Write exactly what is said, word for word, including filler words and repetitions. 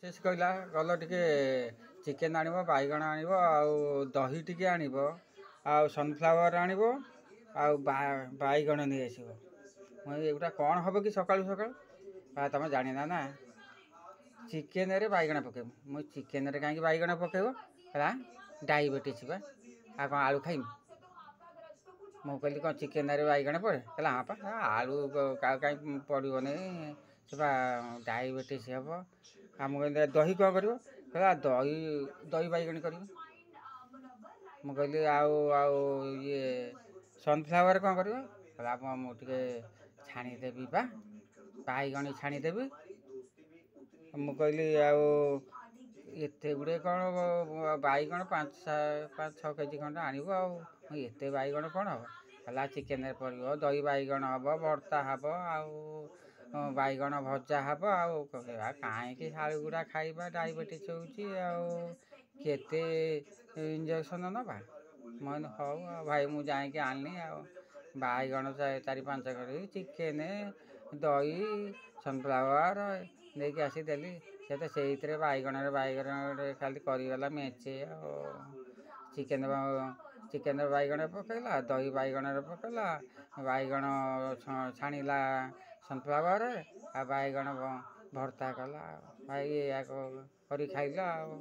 ସେ କହିଲା ଗଲ ଟିକେ ଚିକେନ୍ ଆଣିବ, ବାଇଗଣ ଆଣିବ, ଆଉ ଦହି ଟିକେ ଆଣିବ, ଆଉ ସନଫ୍ଲାୱାର୍ ଆଣିବ, ଆଉ ବାଇଗଣ ନେଇ ଆସିବ। ମୁଁ ଏଗୁଡ଼ା କ'ଣ ହେବ କି ସକାଳୁ ସକାଳୁ? ତମେ ଜାଣିନା ନା, ଚିକେନରେ ବାଇଗଣ ପକେଇବ। ମୁଁ ଚିକେନରେ କାହିଁକି ବାଇଗଣ ପକେଇବ? ହେଲା ଡାଇବେଟିସ୍ ବା, ଆଉ କ'ଣ ଆଳୁ ଖାଇମି? ମୁଁ କହିଲି କ'ଣ ଚିକେନରେ ବାଇଗଣ ପଡ଼େ? କହିଲା ହଁ ପା, ଆଳୁ କାହିଁ ପଡ଼ିବନି, ସେ ବା ଡାଇବେଟିସ୍ ହେବ। ଆଉ ମୁଁ କହିଲି ଦହି କ'ଣ କରିବ? କହିଲା ଦହି ଦହି ବାଇଗଣ କରିବ। ମୁଁ କହିଲି ଆଉ ଆଉ ଇଏ ସନଫ୍ଲାୱାର୍ କ'ଣ କରିବ? କହିଲା ମୁଁ ଟିକେ ଛାଣିଦେବି ବା, ବାଇଗଣ ଛାଣିଦେବି। ମୁଁ କହିଲି ଆଉ ଏତେ ଗୁଡ଼ିଏ କ'ଣ ବାଇଗଣ? ପାଞ୍ଚ ପାଞ୍ଚ ଛଅ କେଜି ଖଣ୍ଡେ ଆଣିବ, ଆଉ ଏତେ ବାଇଗଣ କ'ଣ ହେବ? ହେଲା ଚିକେନରେ ପଡ଼ିବ, ଦହି ବାଇଗଣ ହେବ, ଭର୍ତ୍ତା ହେବ, ଆଉ ବାଇଗଣ ଭଜା ହେବ। ଆଉ କାହିଁକି ଆଳୁ ଗୁଡ଼ା ଖାଇବା, ଡାଇବେଟିସ୍ ହେଉଛି, ଆଉ କେତେ ଇଞ୍ଜେକ୍ସନ୍ ନେବା। ମୁଁ କହିଲି ହଉ ଆଉ ଭାଇ, ମୁଁ ଯାଇକି ଆଣିଲି ଆଉ ବାଇଗଣ ଚାରି ପାଞ୍ଚ କେଜି, ଚିକେନ୍, ଦହି, ସନଫ୍ଲାୱାର୍ ନେଇକି ଆସି ଦେଲି। ସେ ତ ସେଇଥିରେ ବାଇଗଣରେ ବାଇଗଣରେ ଖାଲି କରିଗଲା ମେଞ୍ଚେ। ଆଉ ଚିକେନ୍ ଚିକେନ୍ରେ ବାଇଗଣ ପକେଇଲା, ଦହି ବାଇଗଣରେ ପକେଇଲା, ବାଇଗଣ ଛାଣିଲା ସନଫ୍ଲାୱାର୍ରେ, ଆଉ ବାଇଗଣ ଭର୍ତ୍ତା କଲା। ଆଉ ଭାଇ ଏଇଆ କରି ଖାଇଲା ଆଉ।